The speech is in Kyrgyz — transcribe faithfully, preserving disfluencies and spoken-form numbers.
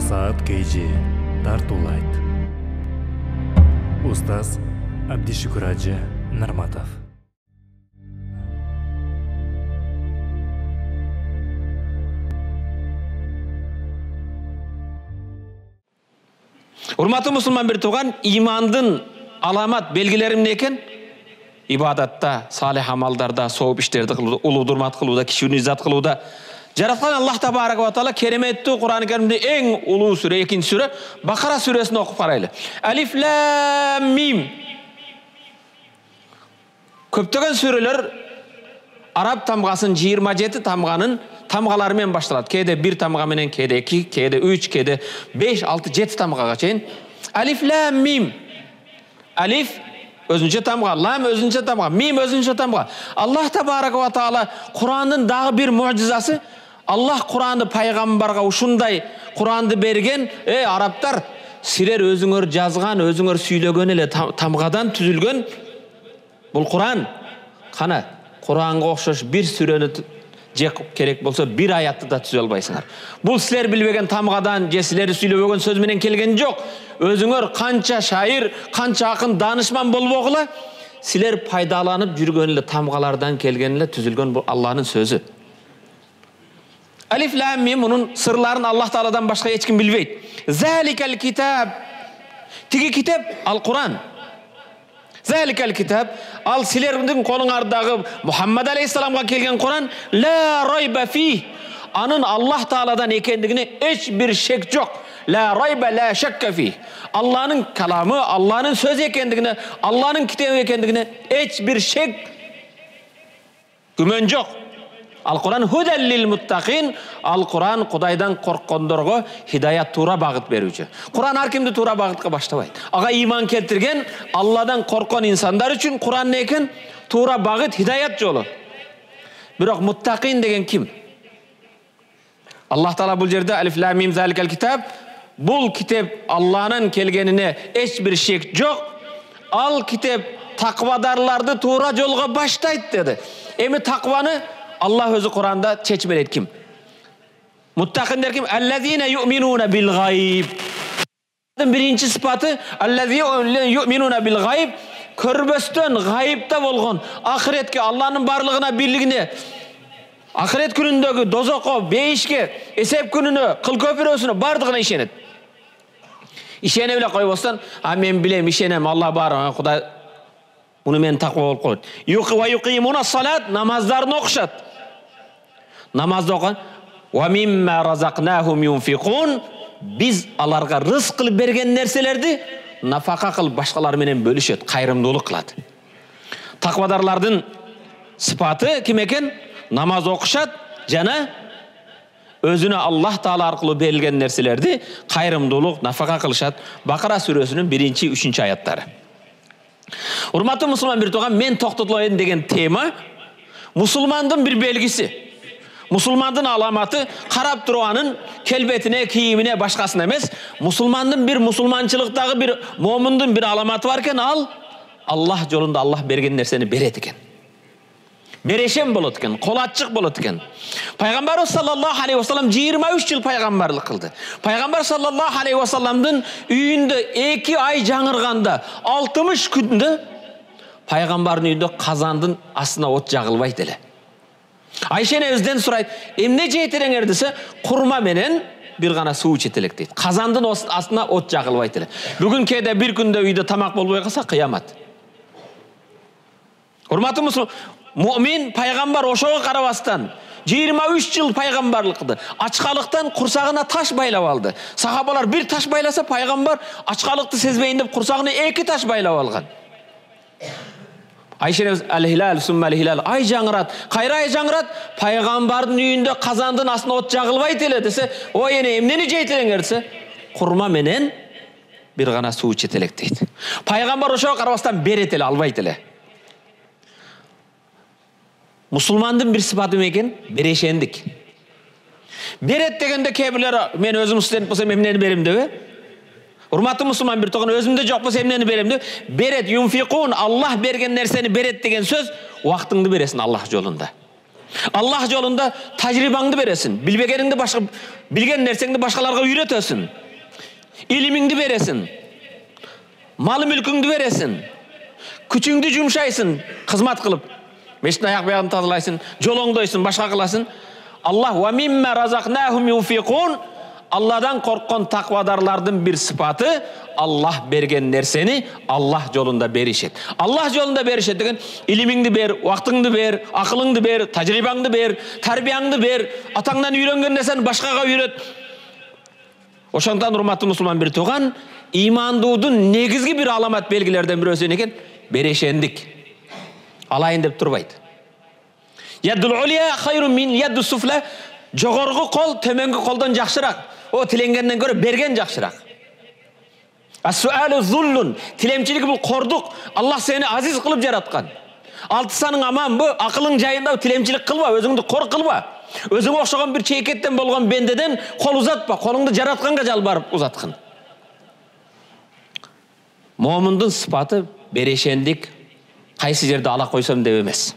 Насаат Кейджи тартуулайт. Устаз Абдишукур Ажы Нарматов. Урматтуу мусулман бир тууган, имандын аламат белгилери эмне экен? Ибадатта, салих амалдарда, сооп иштерди кылууда, улуу-дурмат кылууда, кичүүнү иззат кылууда. Жараткан Аллах табарак ва таала кереметтүү Кур'ан-ы Каримде эң улуу сүрө, экинчи сүрө Бакара сүрөсүн окуп карайлы. Алиф лам мим. Көптөгөн сүрөлөр араб тамгасын жыйырма жети тамганын тамгалары менен башталат. Кээде бир тамга менен, кээде эки, кээде үч, кээде беш, алты, жети тамгага чейин. Алиф лам мим. Алиф өзүнчө тамга, лам өзүнчө тамга, мим өзүнчө тамга. Аллах табарак ва таала Кур'андын дагы бир муъжизасы, Аллах Кур'анды пайгамбарга ушундай Кур'анды берген, э арабтар, силер өзүңөр жазган, өзүңөр сүйлөгөн эле тамгадан түзүлгөн бул Кур'ан. Кана, Кур'анга окшош бир сүрөнү же керек болсо бир аятты да түзө албайсыңар. Бул силер билбеген тамгадан же силер сүйлөбөгөн сөз менен келген жок. Өзүңөр канча шайыр, канча акын, данышман болбогула, силер пайдаланып жүргөн эле тамгалардан келген эле түзүлгөн бул Аллахтын сөзү. Алиф лам мим, мунун сырларын Аллах Тааладан башка эч ким билбейт. Заликал китаб. Тиги китап ал Кур'ан. Заликал китаб, ал силердин колуңардагы Мухаммад алейхиссаламга келген Кур'ан, ла райба фи. Анын Аллах Тааладан экендигине эч бир шек жок. Ла райба ла шакка фи. Аллахнын каламы, Аллахнын сөзү экендигине, Аллахнын китабы экендигине эч бир шек, күмөн жок. Ал Кур'ан худал лил муттакин, ал Кур'ан Кудайдан корккондорго хидаят, туура багыт берүүчү. Кур'ан ар кимди туура багытка баштабайт. Ага иман келтирген, Алладан корккон инсандар үчүн Кур'ан не экен? Туура багыт, хидаят жолу. Бирок муттакин деген ким? Аллах Таала бул жерде алиф лам мим заликал китаб, бул китеп Аллахнын келгенине эч бир шек жок. Ал китеп таквадарларды туура жолго баштайт деди. Эми такваны Аллах өзү Кур'анда чечмелейт ким? Муттакиндер ким? Аллазина ю'минуна бил гайб. Биринчи сыпаты аллазина ю'минуна бил гайб, көрбөстөн гайыпта болгон, ахиретке, Аллахнын барлыгына, бирлигине, ахирет күнүндөгү дозокко, бейишке, эсеп күнүнө, кыл көпүрөсүнө бардыгына ишенет. Ишене эле койбостон, а мен билем, ишенем, Аллах бар, Кудай муну мен таква болуп коет. Юқи ва юқимуна салат, намаздарын окушат. Намазды окуган, ва мимма разакнахум юнфикун, биз аларга рызык кылып берген нерселерди нафака кылып башкалар менен бөлүшөт, кайрымдуулук кылат. Таквадарлардын сыпаты ким экен? Намаз окушат жана өзүнө Аллах Таала аркылуу берилген нерселерди кайрымдуулук, нафака кылышат. Бакара сүрөсүнүн биринчи, үчүнчү аяттары. Урматтуу мусулман бир тууган, мен токтотолоюн деген тема мусулмандын бир белгиси. Мусулмандын аламаты карап туруп анын келбетине, кийимине, башкасына эмес, мусулмандын бир мусулманчылыктагы бир момундун бир аламаты бар экен, ал Аллах жолунда Аллах берген нерсени берет экен. Берешем болот экен, кол ачык болот экен. Пайгамбарыбыз саллаллаху алейхи ва саллам жыйырма үч жыл пайгамбарлык кылды. Пайгамбар саллаллаху алейхи ва салламдын үйүндө эки ай жаңырганда, алтымыш күндө пайгамбардын үйүндө казандын астына от жагылбайт эле. Айша энебизден сурайт, эмне жейтереңер десе, курма менен бир гана суу ичет элек дейт. Казандын астына от жагылбайт эле. Бүгүн кээде бир күндө үйдө тамак болбой калса кыямат. Урматтуу мусулман, муъмин пайгамбар ошого карабастан жыйырма үч жыл пайгамбарлык кылды. Ачкалыктан курсагына таш байлап алды. Сахабалар бир таш байласа, пайгамбар ачкалыкты сезбейин деп курсагына эки таш байлап алган. Айша энебиз ал-хилал сумма ал-хилал, ай жаңырат, кайра ай жаңырат, пайгамбардын үйүндө казандын астына от жагылбайт эле десе, ой эне эмнени жейтереңер десе, курма менен бир гана суу ичет элек дейт. Пайгамбар ошого карабастан берет эле, албайт эле. Мусулмандын бир сыпаты экен, берешендик. Берет дегенде кээ бирлер, мен өзүм студент болсом эмнени берем дебе? Урматтуу мусулман бир тууган, өзүмдө жок болсо эмнени берем деп? Берет, юнфикун, Аллах берген нерсени берет деген сөз, убактыңды бересиң Аллах жолунда. Аллах жолунда тажрибаңды бересин. Билбегениңди башка, билген нерсеңди башкаларга үйрөтөсүн. Илимиңди бересин. Мал мүлкүңдү бересин. Күчүңдү жумшайсың, кызмат кылып. Мешіттің аяқ бияғын тазалайсың, жол оңдойсың, башқа қыласың. Аллах ва мимма разақнахум юнфиқун. Алладан қорққан тақвадарлардың бір сыпаты, Аллах берген нәрсені Аллах жолында беришет. Аллах жолында беришет деген илимиңди бер, уақытыңды бер, ақылыңды бер, тажрибаңды бер, тарбияңды бер, атаңдан үйренген нәрсени башкага үйрөт. Ошондон урматтуу мусулман бир туган, имандуудун негизги бир аламат белгилерден бирөөсү экен берешендик. Алайын деп турбайт. Яддул улия хайрун мин яддус суфла. Жогоргу кол төмөнгү колдон жакшыраак. О тиленгенден көрө берген жакшыраак. Ас-суалу зуллун. Тилемчилик бул кордук. Аллах сени азиз кылып жараткан. Алтысаның аман бу, акылың жайында тилемчилик кылба, өзүңдү кор кылба. Өзүңө окшогон бир чейкеттен болгон бендеден кол узатпа, колуңду жаратканга жалбарып узаткын. Момундун сыпаты берешендик, кайсы жерде ала койсом деп эмес.